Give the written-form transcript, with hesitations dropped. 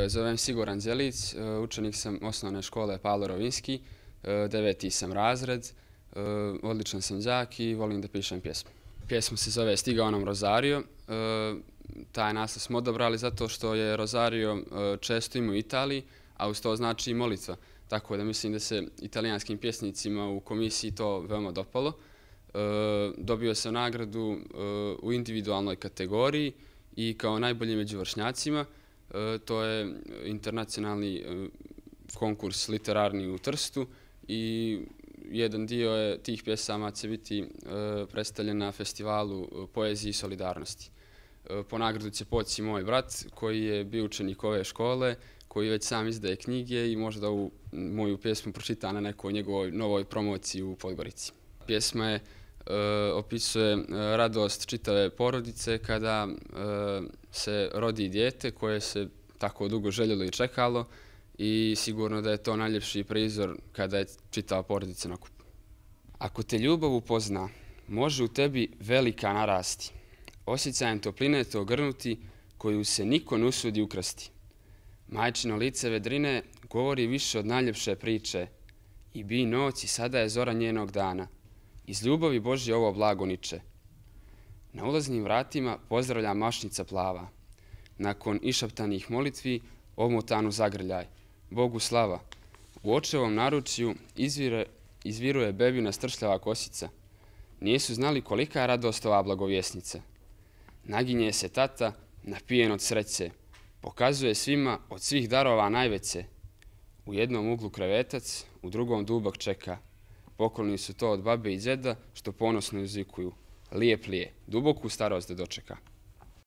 Zovem se Igor Anđelić, učenik sam osnovne škole Pavlo Rovinski, 9. sam razred, odličan sam đak i volim da pišem pjesme. Pjesma se zove Stigao nam Rozario. Taj naslov smo odabrali zato što je Rozario često ima u Italiji, a uz to znači i molitva. Tako da mislim da se italijanskim pjesnicima u komisiji to veoma dopalo. Dobio sam nagradu u individualnoj kategoriji i kao najbolji među vršnjacima. To je internacionalni konkurs literarni u Trstu i jedan dio tih pjesama će biti predstavljen na festivalu poezije i solidarnosti. Po nagradu će poći moj brat koji je bio učenik ove škole, koji već sam izdaje knjige i možda ovu moju pjesmu pročita na nekoj njegovoj novoj promociji u Podgorici. Pjesma opisuje radost čitave porodice kada se rodi dijete koje se tako dugo željelo i čekalo i sigurno da je to najljepši prizor kada je čitava porodica na okupu. Ako te ljubav upozna, može u tebi velika narasti, osjećajem topline te ogrnuti koju se niko ne usudi ukrasti. Majčino lice vedrine govori više od najljepše priče i bi noć i sada je zora njenog dana. Iz ljubavi Božje ovo blago niče. Na ulaznim vratima pozdravlja mašnica plava. Nakon išaptanih molitvi omotanu zagrljaj. Bogu slava. U očevom naručju izviruje bebina stršljava kosica. Nijesu znali kolika je radost ova blagovjesnica. Naginje se tata, napijen od sreće. Pokazuje svima od svih darova najveće. U jednom uglu krevetac, u drugom dubak čeka. Pokloni su to od babe i džeda što ponosno uzvikuju. Lijep li je, duboku starost da dočeka.